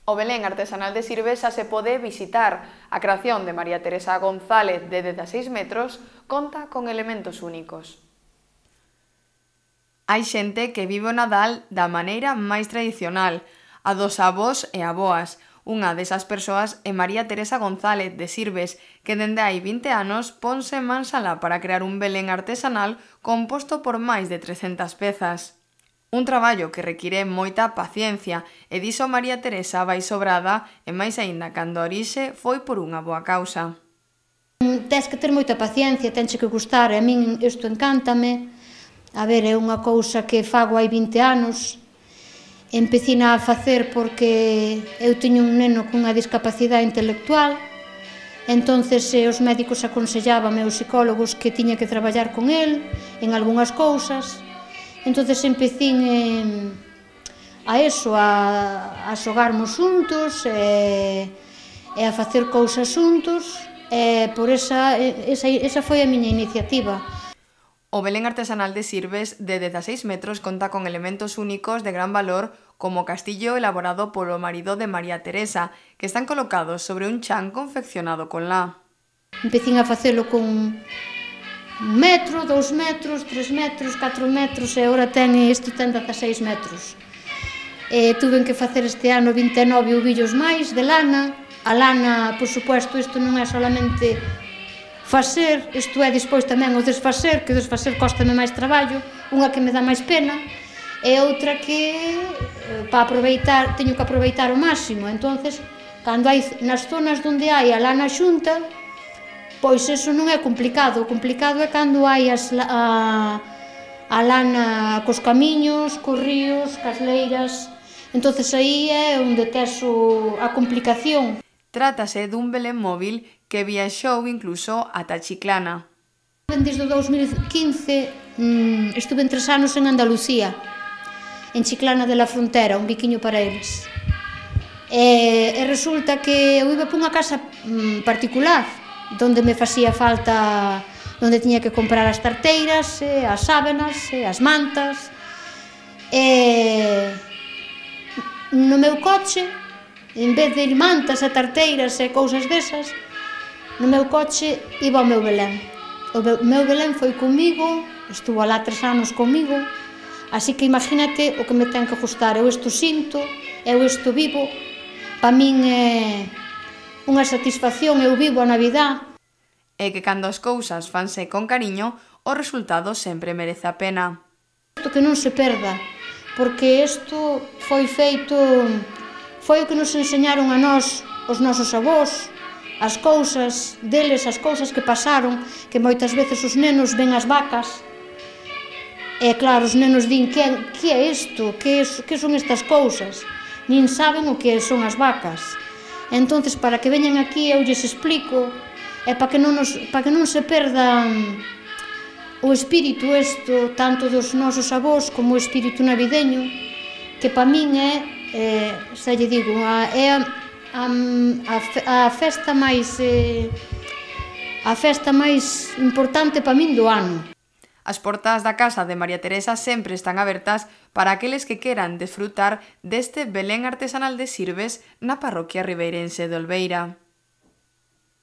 O Belén artesanal de Sirves xa se pode visitar. A creación de María Teresa González, de 16 metros, conta con elementos únicos. Hai xente que vive o Nadal da maneira máis tradicional, a dos avós e avoas. Unha desas persoas é María Teresa González, de Sirves, que dende hai 20 anos ponse en mansala para crear un Belén artesanal composto por máis de 300 pezas. Un traballo que require moita paciencia, e diso María Teresa vai sobrada, e máis aínda cando a orixe foi por unha boa causa. Tens que ter moita paciencia, tenche que gustar, e a min isto encántame. A ver, é unha cousa que fago hai 20 anos, empecina a facer porque eu teño un neno cunha discapacidade intelectual, entonces os médicos aconsellaban, os psicólogos, que tiña que traballar con el en algunhas cousas. Entonces empecín a eso, a xogarmos xuntos e a facer cousas xuntos, e por esa foi a miña iniciativa. O Belén artesanal de Sirves, de 16 metros, conta con elementos únicos de gran valor, como o castillo elaborado polo marido de María Teresa, que están colocados sobre un chan confeccionado con lá. Empecín a facelo con 1 metro, 2 metros, 3 metros, 4 metros, e agora isto ten 16 metros. Tuven que facer este ano 29 ovillos máis de lana. A lana, por suposto, isto non é solamente facer, isto é despois tamén o desfacer, que o desfacer cóstame máis traballo, unha que me dá máis pena, e outra que, para aproveitar, teño que aproveitar o máximo. Entonces, cando hai nas zonas onde hai a lana xunta, pois eso non é complicado. O complicado é cando hai a lana cos camiños, cos ríos, cas leiras. Entonces aí é onde tes a complicación. Trátase dun Belén móvil que viaxou incluso ata Chiclana. Desde o 2015 estuve 3 anos en Andalucía, en Chiclana de la Frontera, un biquiño para eles. E resulta que eu iba por unha casa particular, donde me facía falta, donde tiña que comprar as tarteiras, as sábanas, as mantas. No meu coche, en vez de ir mantas e tarteiras e cousas desas, no meu coche iba o meu Belén. O meu Belén foi comigo, estuvo alá 3 anos comigo, así que imagínate o que me ten que gustar. Eu isto sinto, eu isto vivo, para min é unha satisfacción, eu vivo a Navidad. E que cando as cousas fanse con cariño, o resultado sempre merece a pena. Isto que non se perda, porque isto foi feito, foi o que nos enseñaron a nós, os nosos avós, as cousas deles, as cousas que pasaron, que moitas veces os nenos ven as vacas, e claro, os nenos din, que é isto, que son estas cousas? Nin saben o que son as vacas. Entonces, para que veñan aquí, eu lles explico, e para que non se perda o espírito isto, tanto dos nosos avós como o espírito navideño, que para min é, xa lle digo, é a festa máis importante para min do ano. As portas da casa de María Teresa sempre están abertas para aqueles que queran desfrutar deste Belén artesanal de Sirves na parroquia ribeirense de Olveira.